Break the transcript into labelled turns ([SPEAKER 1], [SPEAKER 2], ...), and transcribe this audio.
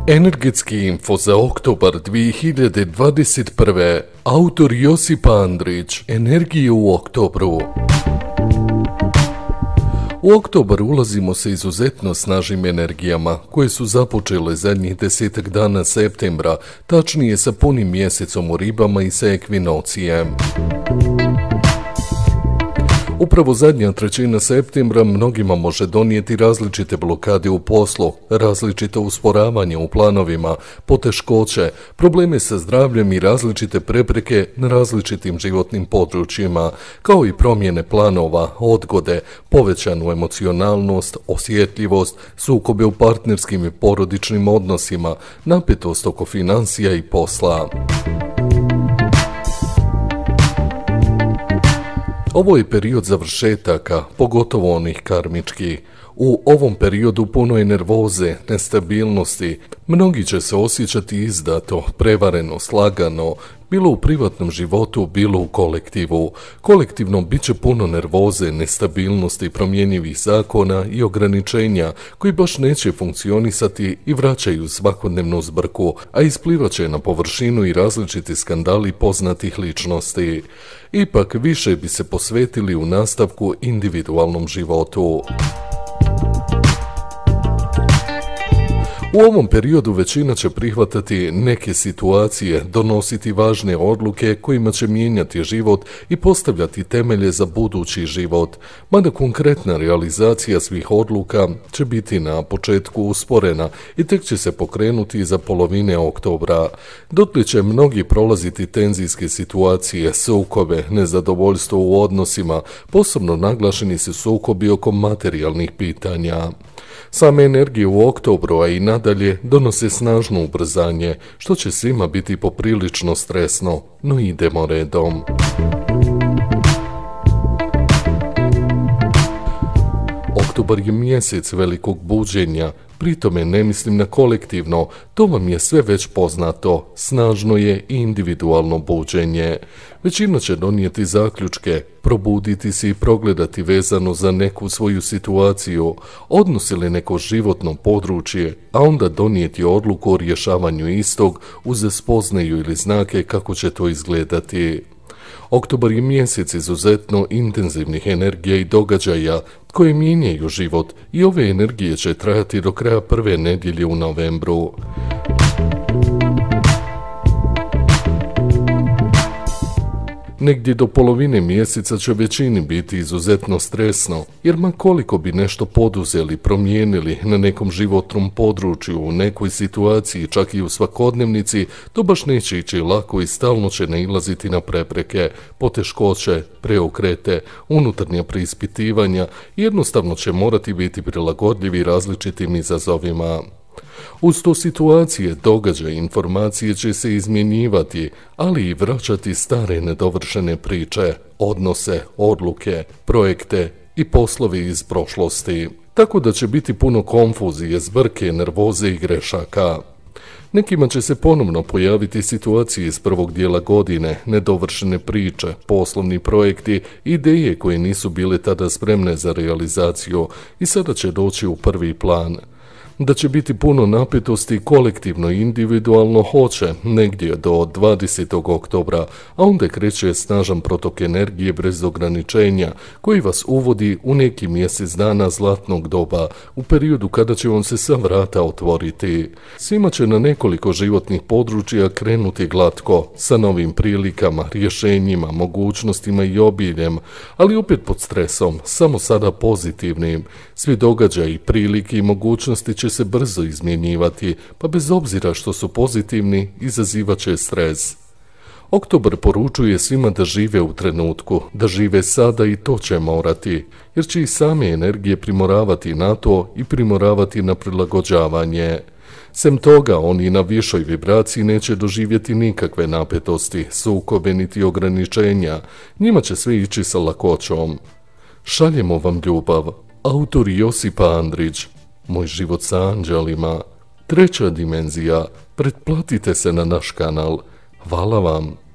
[SPEAKER 1] Energetski info za oktobar 2021. Autor Josip Andrić. Energije u oktobru. U oktobar ulazimo sa izuzetno snažnim energijama, koje su započele zadnjih 10 dana septembra, tačnije sa punim mjesecom u ribama i sa ekvinocijem. Upravo zadnja trećina septembra mnogima može donijeti različite blokade u poslu, različite usporavanje u planovima, poteškoće, probleme sa zdravljem i različite prepreke na različitim životnim područjima, kao i promjene planova, odgode, povećanu emocionalnost, osjetljivost, sukobe u partnerskim i porodičnim odnosima, napetost oko financija i posla. Ovo je period završetaka, pogotovo onih karmičkih. U ovom periodu puno je nervoze, nestabilnosti. Mnogi će se osjećati izdato, prevareno, slagano, bilo u privatnom životu, bilo u kolektivu. Kolektivno bit će puno nervoze, nestabilnosti, promjenjivih zakona i ograničenja koji baš neće funkcionisati i vraćaju svakodnevnu zbrku, a isplivat će na površinu i različiti skandali poznatih ličnosti. Ipak više bi se posvetili u nastavku individualnom životu. U ovom periodu većina će prihvatati neke situacije, donositi važne odluke kojima će mijenjati život i postavljati temelje za budući život, mada konkretna realizacija svih odluka će biti na početku usporena i tek će se pokrenuti za polovine oktobra. Dotle će mnogi prolaziti tenzijske situacije, sukobe, nezadovoljstvo u odnosima, posebno naglašeni su sukobi oko materijalnih pitanja. Same energije u oktobru, a i nadalje, donose snažno ubrzanje, što će svima biti poprilično stresno, no idemo redom. Oktobar je mjesec velikog buđenja, pritome ne mislim na kolektivno, to vam je sve već poznato, snažno je i individualno buđenje. Većina će donijeti zaključke, probuditi se i progledati vezano za neku svoju situaciju, odnos ili neko životno područje, a onda donijeti odluku o rješavanju istog uz spoznaju ili znake kako će to izgledati. Oktobar je mjesec izuzetno intenzivnih energija i događaja koje mijenjaju život i ove energije će trajati do kraja prve nedjelje u novembru. Negdje do polovine mjeseca će većini biti izuzetno stresno, jer ma koliko bi nešto poduzeli, promijenili na nekom životnom području, u nekoj situaciji, čak i u svakodnevnici, to baš neće ići lako i stalno će nailaziti na prepreke, poteškoće, preokrete, unutarnja preispitivanja i jednostavno će morati biti prilagodljivi različitim izazovima. Uz to situacije, događaje, informacije će se izmjenjivati, ali i vraćati stare nedovršene priče, odnose, odluke, projekte i poslovi iz prošlosti. Tako da će biti puno konfuzije, zbrke, nervoze i grešaka. Nekima će se ponovno pojaviti situacije iz prvog dijela godine, nedovršene priče, poslovni projekti, ideje koje nisu bile tada spremne za realizaciju i sada će doći u prvi plan. Da će biti puno napetosti kolektivno i individualno hoće negdje do 20. oktobra, a onda kreće snažan protok energije bez ograničenja koji vas uvodi u neki mjesec dana zlatnog doba, u periodu kada će vam se sva vrata otvoriti. Svima će na nekoliko životnih područja krenuti glatko, sa novim prilikama, rješenjima, mogućnostima i obiljem, ali opet pod stresom, samo sada pozitivnim. Svi događaji, prilike i mogućnosti će se brzo izmjenjivati, pa bez obzira što su pozitivni, izazivat će stres. Oktobar poručuje svima da žive u trenutku, da žive sada i to će morati, jer će i same energije primoravati na to i primoravati na prilagođavanje. Sem toga, oni na višoj vibraciji neće doživjeti nikakve napetosti, sukobe niti ograničenja, njima će sve ići sa lakoćom. Šaljemo vam ljubav. Autor Josip Andrić. Moj život sa anđelima. 3. dimenzija. Pretplatite se na naš kanal. Hvala vam.